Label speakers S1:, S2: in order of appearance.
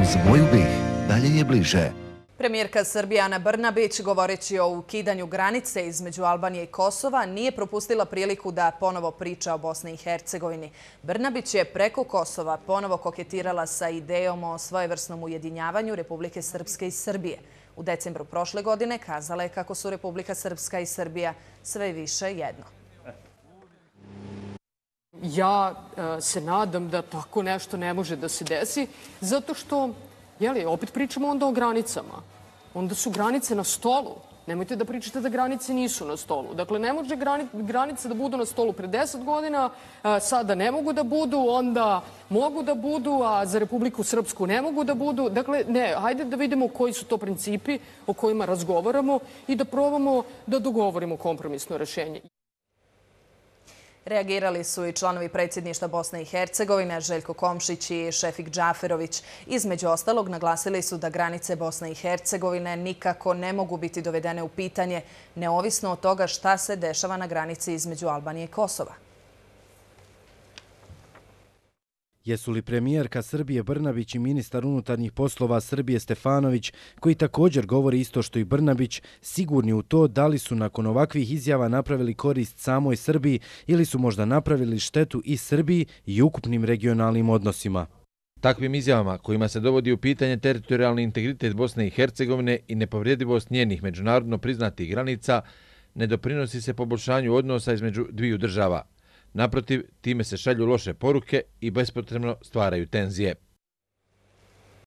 S1: Uz moju BiH dalje je bliže.
S2: Premijerka Srbije Ana Brnabić, govoreći o ukidanju granice između Albanije i Kosova, nije propustila priliku da ponovo priča o Bosni i Hercegovini. Brnabić je preko Kosova ponovo koketirala sa idejom o svojevrsnom ujedinjavanju Republike Srpske i Srbije. U decembru prošle godine kazala je kako su Republika Srpska i Srbija sve više jedno.
S3: Ja se nadam da tako nešto ne može da se desi, zato što, opet pričamo onda o granicama. Onda su granice na stolu. Nemojte da pričate da granice nisu na stolu. Dakle, ne može granice da budu na stolu pre 10 godina, sada ne mogu da budu, onda mogu da budu, a za Republiku Srpsku ne mogu da budu. Dakle, ne, hajde da vidimo koji su to principi o kojima razgovaramo i da probamo da dogovorimo kompromisno rešenje.
S2: Reagirali su i članovi predsjedništva Bosne i Hercegovine, Željko Komšić i Šefik Džaferović. Između ostalog, naglasili su da granice Bosne i Hercegovine nikako ne mogu biti dovedene u pitanje, neovisno od toga šta se dešava na granici između Albanije i Kosova.
S4: Jesu li premijerka Srbije Brnabić i ministar unutarnjih poslova Srbije Stefanović, koji također govori isto što i Brnabić, sigurni u to da li su nakon ovakvih izjava napravili korist samoj Srbiji ili su možda napravili štetu i Srbiji i ukupnim regionalnim odnosima?
S5: Takvim izjavama kojima se dovodi u pitanje teritorijalni integritet Bosne i Hercegovine i nepovredivost njenih međunarodno priznatih granica ne doprinosi se poboljšanju odnosa između dviju država. Naprotiv, time se šalju loše poruke i bespotrebno stvaraju tenzije.